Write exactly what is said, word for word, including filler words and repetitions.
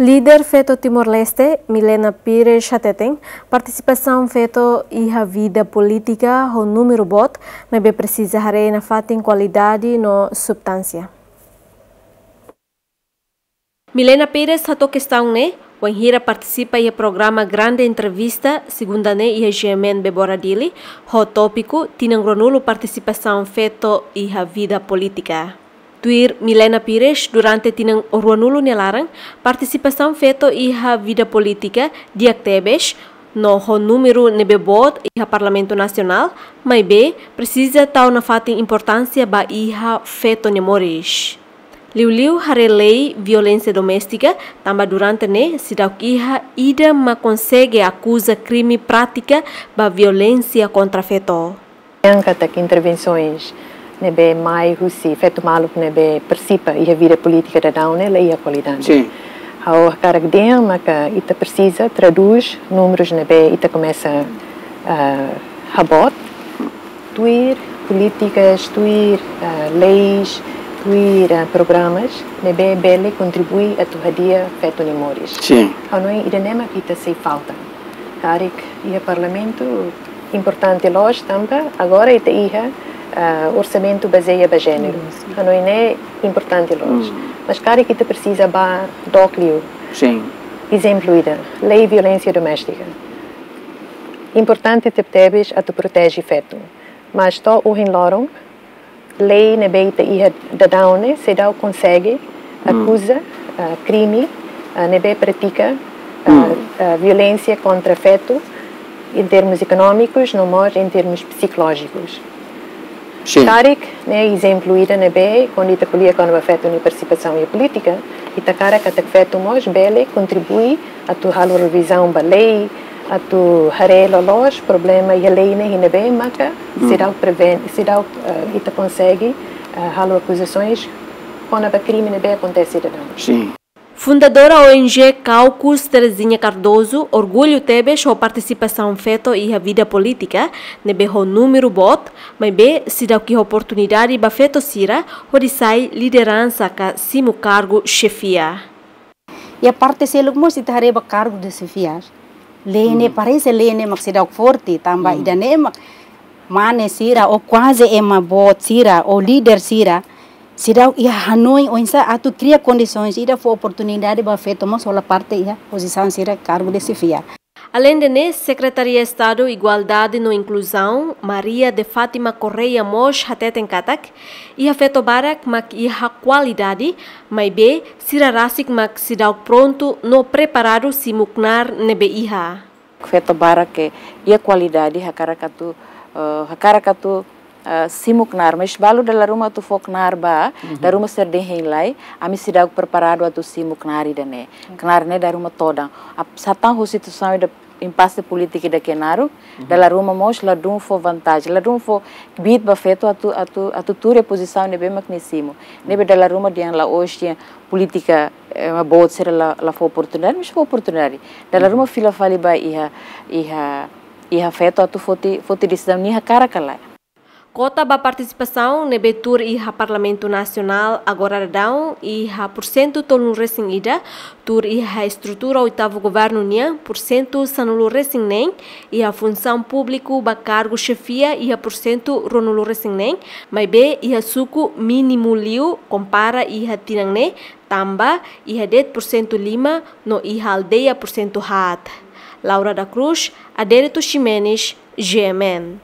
Líder feto Timor-Leste, Milena Pires hateten, partisipasaun feto iha vida polítika ho númeru boot, maibé presiza haree nafatin kualidade no substánsia. Milena Pires hato'o kestaun ne'e wainhira partisipa iha programa Grande Entrevista, segunda ne'e iha G M N Bebora Dili, ho tópiku tinan ruanulu partisipasaun feto iha vida polítika. Tuir Milena Pires, durante tinan ruanulu nia laran, partisipasaun feto iha vida polítika di'ak tebes, no ho númeru ne'ebé boot iha Parlamentu Nasionál, maibé presiza tau nafatin importánsia ba iha feto nia moris. Liuliu haree lei violénsia doméstika, tanba durante ne'e seidauk iha ida mak konsege akuza krime prátika ba violénsia kontra feto. Yang katak intervensoens ne'ebé mai husi feto maluk ne'ebé partisipa iha vida polítika daudaun ne'e la iha kualidade. Sin. Ha'u hakarak dehan maka ita presiza tradús númerus ne'ebé ita komesa, ah, haboot, tuir polítikas, tuir, ah, leis, tuir, ah, programas ne'ebé bele kontribui atu hadi'a feto nia moris. Sin. Ha'u hanoin ida-ne'e mak ita sei falta. Karik iha Parlamentu importante loos tanba agora ita iha, ah, orsamentu bazeia ba jéneru. Sin. Ha'u hanoin ne'e importante loos. Mm. Mas karik ita presiza bá dook liu. Sin. Ezemplu ida, lei violénsia doméstika. Importante tebetebes atu proteje feto. Mas to'o ohin loron, lei ne'ebé ita iha daudaun ne'e seidauk konsege, mm, akuza, ah, krime, ah, ne'ebé pratika, ah, mm, ah, violénsia kontra feto, em termos económicos, no mós em termos psicológicos. Sin. Karik ne'e ezemplu ida ne'ebé, kuandu ita ko'alia kona-ba feto nia partisipasaun iha polítika, ita hakarak katak feto mós bele kontribui atu halo revizaun ba lei, atu haree loloos problema iha lei ne'e iha ne'ebé maka, mm, seidauk prevene, seidauk, eh, ita konsege, eh, halo akuzasoens kona-ba krime ne'ebé akontese daudaun. Sin. Fundadora O N G Caucus, Terezinha Cardoso, orgullu tebes ho partisipasaun feto iha vida polítika, ne'ebé ho númeru boot, maibé seidauk iha oportunidade ba feto sira hodi sai lideransa ka simu kargu xefia. Iha parte seluk mós ita haree ba kargu de xefia. Lei ne'e, hmm, parese lei ne'e mak seidauk forte, tanba, hmm, ida-ne'e mak mane sira, ou kuaze ema boot sira, ou líder sira, seidauk iha hanoin oinsá atu kria kondisoens ida fó oportunidade ba feto mós hola parte iha pozisaun sira kargu de xefia. Aleinde ne'e, Sekretaria Estadu Igualdade no Inkluzaun, Maria de Fátima Correia mós hateten katak, iha feto barak mak iha kualidade, maibé sira rasik mak seidauk prontu no preparadu simu knaar ne'ebé iha. Feto barak ke iha kualidade hakarak atu, eh, hakarak atu, eh, simu knaar, mas balu dala ruma atu fó knaar ba, mhm, dala ruma sira dehan hein lai, ami seidauk preparadu atu simu knaar ida-ne'e. Knaar ne'e dala ruma todan. Ap-, satán husi situasaun ida impasse polítika ida ke naruk, mhm, dala ruma mós ladún fó vantajen, ladún fó kbiit ba feto atu, atu, atu tuur iha pozisaun ne'ebé mak nia simu. Ne'ebé dala ruma dehan la'ós dehan polítika, eh, ema boot sira la, la fó oportunidade, mas fó oportunidade. Dala ruma fila fali ba iha, iha, iha feto atu foti, foti desizaun nia hakarak ka lae. Kota ba partisipasaun ne'ebé tuur iha Parlamentu Nasionál agora daudaun iha pursentu tolunulu-resin-ida, tuur iha estrutura oitavu governu nian pursentu sanulu-resin-neen, iha funsaun públiku ba kargu xefia iha pursentu ruanulu-resin-neen, maibé iha suku mínimu liu kompara iha tinan ne'e, tanba iha de'it pursentu lima no iha aldeia pursentu haat. Laura da Cruz, Adérito Ximenes, G M N.